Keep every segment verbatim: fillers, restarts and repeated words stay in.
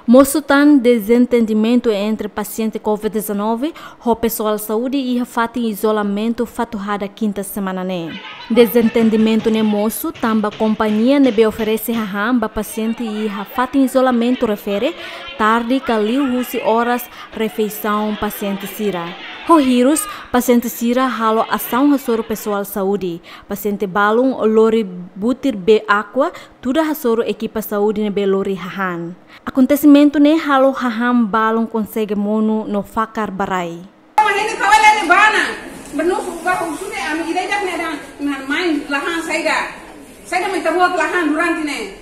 Mosu tan dezentendimentu entre pasiente covid dezanove ho pesoál saúde iha fatin izolamentu Fatuhada kinta semana ne'e. Dezentendimentu ne'e mosu tanba kompañia ne'ebé oferese hahán ba pasiente iha fatin izolamentu refere tarde ka liu husi oras refeisaun pasiente sira. Ho hirus, pasiente sira halo asaun hasoru pesoál saúde. Pasiente balun lori butir bee aqua, tuda hasoru ekipa saúde ne'ebé lori hahán. Akontesimentu ne'e halo hahán balun konsege monu no fakar ba rai. Mama, ne'e kawai lele bana. Bernu suka husu ne'e, ami ida-idak ne'e dan, nan main lahan saida. Saida mai tabuat lahan durante ne'e.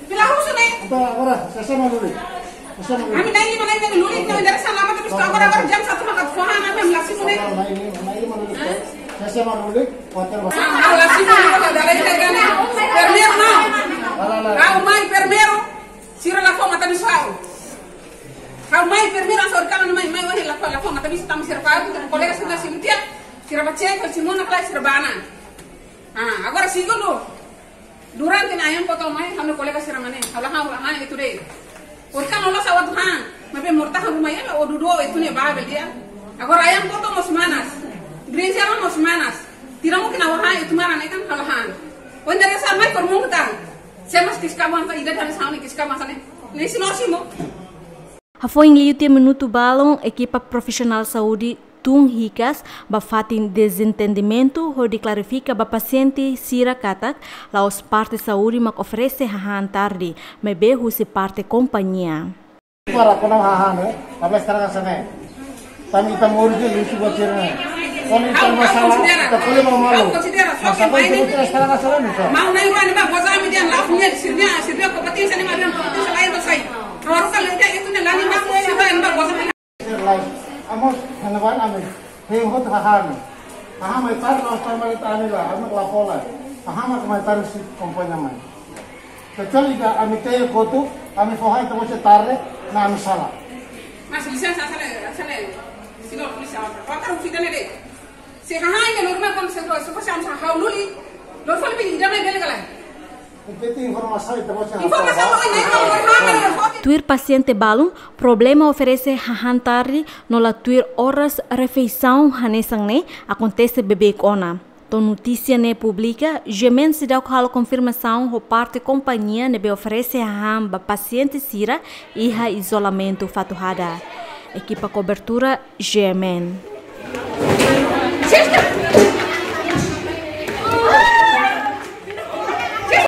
Pila husu ne'e. Agora, agora, sasán mak lulik. Sasán mak lulik. Ami na'in-lima, na'in-lima lulik, ne'e dari sana lama terus agora, agora jam satu maka foha, ami, ami la simu ne'e. Na'in-lima, na'in-lima lulik. Hah? Sasán mak lulik, kuater ba. Ah, la simu ne'e, la, la, la, la, la. Primeiru não. La, la, la. Ha'u mai primeiru. Sira la fó matabixu ha'u. Ha'u mai primeiru, hanesan ohin kalan mai, mai ohin la fó, la fó matabixu tanba sira fó, kolega sira la simu tiha, sira bá cek, simu ona kala sira bá ona. Ah, agora segundu. Durante ne'e ayam potong mai, ha'u-nia kolega sira mane, ha'u la han, ha'u la han itu de'it. Ohin kalan la sawat han, maibé mortahan ruma ya, la odudu itu ne'e bá bele ya. Agora ayam potong mós manas, brinjal mós manas. Tira mungkin ha'u han, itu mara ne'e kan ha'u la han. Ohin dari sana mai permukaan. Sé mak kiska bansa, ida dari sana kiska bansa ne'e. Ne'e si no simu. Hafoin liu tiha minutu balun, ekipa profisionál saúde tun hikas ba fatin dezentendimentu hodi klarifika ba pasiente sira katak la'ós parte saúde mak oferese hahán tarde, maibé husi parte kompañia. Para kona hahán, eh? Tabla estraga hanesan ne'e. Tanba ita moris de'it, luxu buat sira-ne'e. Kuandu ita masalah, ita kole mau malu. Masalah itu buat estraga hanesan ne'e, mister. Mau na'in-rua ne'e mak goza ami dehan la fó nia, sira-nia, sira-nia kompeténsia ne'e mak dehan kompeténsia lain mak sai. Roro kala ita itu ne'e la nia mak sira ne'e mak goza. Lain, amos, hanaban ami. Hein hotu hahán. Hahán mai tar, la tar mai tar ami la, ami la fó la. Hahán mak mai tar husi kompañia mai. Kecuali ka ami te'in kotuk, ami fó hahán ita-boot sira tarde, ne'e ami sala. Mas lisensa, sala, sala, sino polísia, apa? Kau tahu kita ni deh. Se hahán ne'e lori mai kon se, se, se, se, se, ha'u lori, lori fali pi ida mai bele kala. Ita-nia informasaun ita-boot sira. Informasaun, oh, ini, oh, oh, oh, oh. Tuir pasiente balun, problema oferese hahán tarde no la tuir oras refeisaun hanesan ne'e akontese beibeik ona. To'o notísia ne'e publika, GMN seidauk halo konfirmasaun ho parte kompañia ne'ebé oferese hahán ba pasiente sira iha izolamentu Fatuhada. Ekipa kobertura GMN.